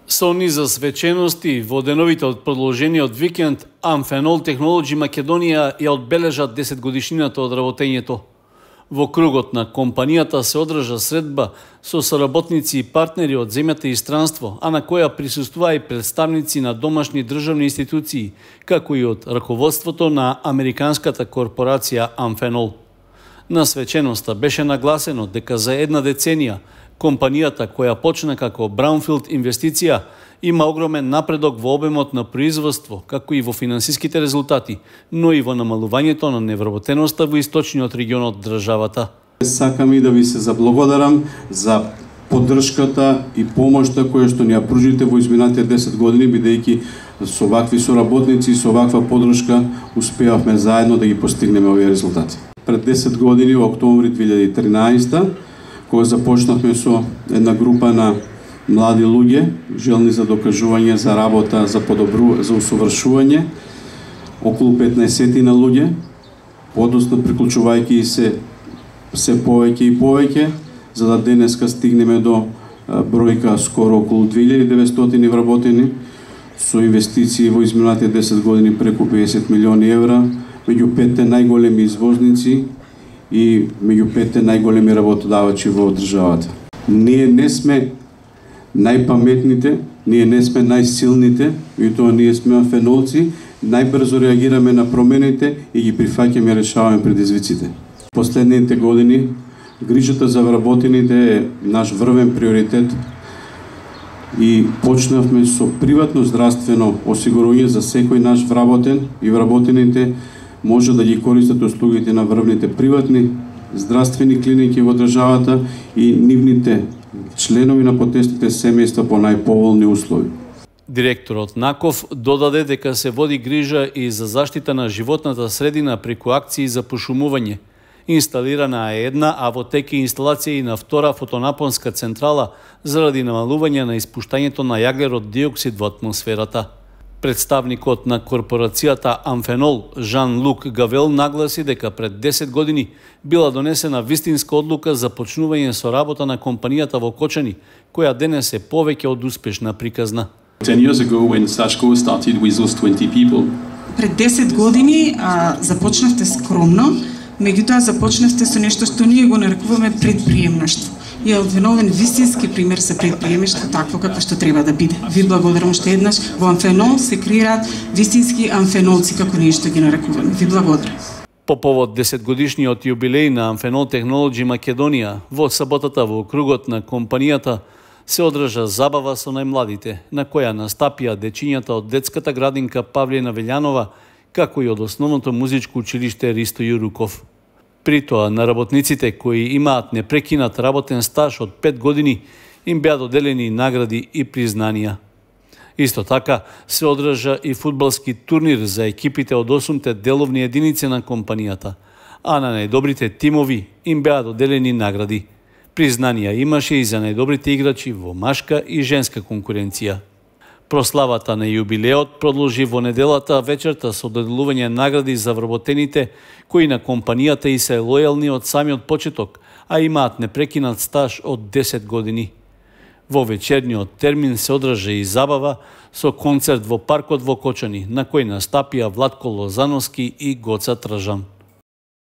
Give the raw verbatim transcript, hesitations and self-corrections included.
Со низа свечености во деновите од продолжениот викенд, Amphenol Technology Македонија ја одбележа десетгодишнината од работењето. Во кругот на компанијата се одржа средба со соработници и партнери од земјата и странство, а на која присуствува и представници на домашни државни институции, како и од раководството на американската корпорација Amphenol. На свеченоста беше нагласено дека за една деценија компанијата, која почна како Brownfield инвестиција, има огромен напредок во обемот на производство, како и во финансиските резултати, но и во намалувањето на невработеноста во источниот регион од државата. Сакам и да ви се заблагодарам за поддршката и помошта која што ни ја пружите во изминатите десет години, бидејќи со вакви соработници и со ваква поддршка успеавме заедно да ги постигнеме овие резултати. Пред десет години, во октомври две илјади и тринаесетта, кога започнавме со една група на млади луѓе, желни за докажување, за работа, за подобру, за усовршување, околу петнаесет на луѓе, подоцна приклучувајќи се се повеќе и повеќе, за да денеска стигнеме до бројка скоро околу две илјади и деветстотини вработени, со инвестиции во изминатите десет години преку педесет милиони евра, меѓу петте најголеми извозници и меѓу петте најголеми работодавачи во државата. Ние не сме најпаметните, ние не сме најсилните, и тоа ние сме амфенолци, најбрзо реагираме на промените и ги прифаќаме и решаваме предизвиците. Последните години грижата за вработените е наш врвен приоритет и почнавме со приватно здравствено осигурување за секој наш вработен и вработените може да ги користат услугите на врвните приватни здравствени клиники во државата и нивните членови на потесните семејства по најповолни услови. Директорот Наков додаде дека се води грижа и за заштита на животната средина преку акции за пошумување. Инсталирана е една, а во тек е инсталација и на втора фотонапонска централа заради намалување на испуштањето на јаглерод диоксид во атмосферата. Представникот на корпорацијата Amphenol, Жан-Лук Гавел, нагласи дека пред десет години била донесена вистинска одлука за почнување со работа на компанијата во Кочани, која денес е повеќе од успешна приказна. ten years ago when Sashko started with those twenty people. Пред десет години а, започнавте скромно, меѓутоа започнавте со нешто што ние го нарекуваме предприемништво. И е одвиновен вистински пример за предприемништво такво како што треба да биде. Ви благодарам уште еднаш. Во Amphenol се креираат вистински амфенолци, како ние што ги нарекуваме. Ви благодарам. По повод десетгодишниот јубилеј на Amphenol Technology Македонија, во саботата во кругот на компанијата се одржа забава со најмладите, на која настапија дечињата од детската градинка Павлина Велјанова, како и од основното музичко училиште Ристо Јуруков. При тоа на работниците кои имаат непрекинат работен стаж од пет години им беа доделени награди и признанија. Исто така се одржа и фудбалски турнир за екипите од осумте деловни единици на компанијата, а на најдобрите тимови им беа доделени награди. Признанија имаше и за најдобрите играчи во машка и женска конкуренција. Прославата на јубилеот продолжи во неделата вечерта со доделување награди за вработените кои на компанијата и се лојални од самиот почеток, а имаат непрекинат стаж од десет години. Во вечерниот термин се одржа и забава со концерт во паркот во Кочани, на кој настапија Владко Лозановски и Гоца Тржан.